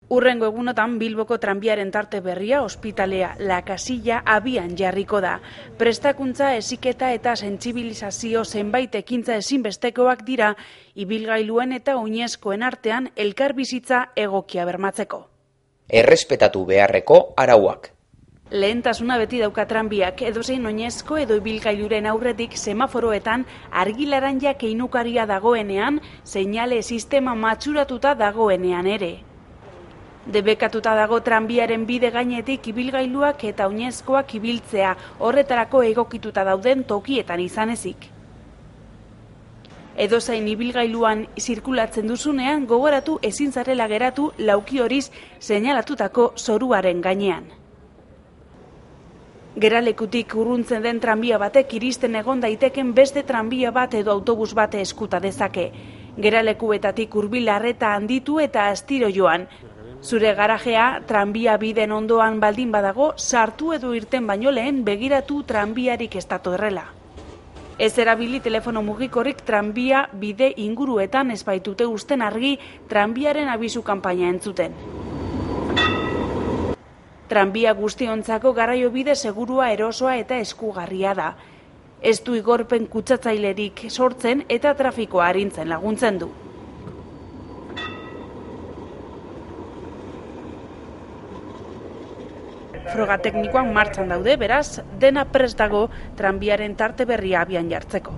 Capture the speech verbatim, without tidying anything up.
Urrengo egunotan Bilboko tranbiaren tarte berria, ospitalea, La Casilla abian jarriko da. Prestakuntza, heziketa eta sentsibilizazio zenbait ekintza ezinbestekoak dira, ibilgailuen eta oinezkoen artean elkarbizitza egokia bermatzeko. Errespetatu beharreko arauak. Lehentasuna beti dauka tranbiak, edozein oinezko edo ibilgailuren aurretik semaforoetan argilaranja keinukaria dagoenean, seinale sistema matxuratuta dagoenean ere. Debekatuta dago tranbiaren bide gainetik ibilgailuak eta oinezkoak ibiltzea, horretarako egokituta dauden tokietan izan ezik. Edozein ibilgailuan zirkulatzen duzunean, gogoratu ezin zarela geratu lauki horiz seinalatutako zoruaren gainean. Geralekutik urruntzen den tranbia batek iristen egon daiteken beste tranbia bat edo autobus bate eskuta dezake. Geralekuetatik hurbil arreta handitu eta astiro joan. Zure garajea tranbia biden ondoan baldin badago, sartu edo irten baino lehen begiratu tranbiarik ez datorrela. Ez erabili telefono mugikorrik tranbia bide inguruetan ez baitute uzten argi tranbiaren abisu kanpaina entzuten. Tranbia guztiontzako garraio bide segurua, erosoa eta eskugarria da. Ez du igorpen kutsatzailerik sortzen eta trafikoa arintzen laguntzen du. Froga teknikoak martxan daude, beraz, dena prest dago tranbiaren tarte berria abian jartzeko.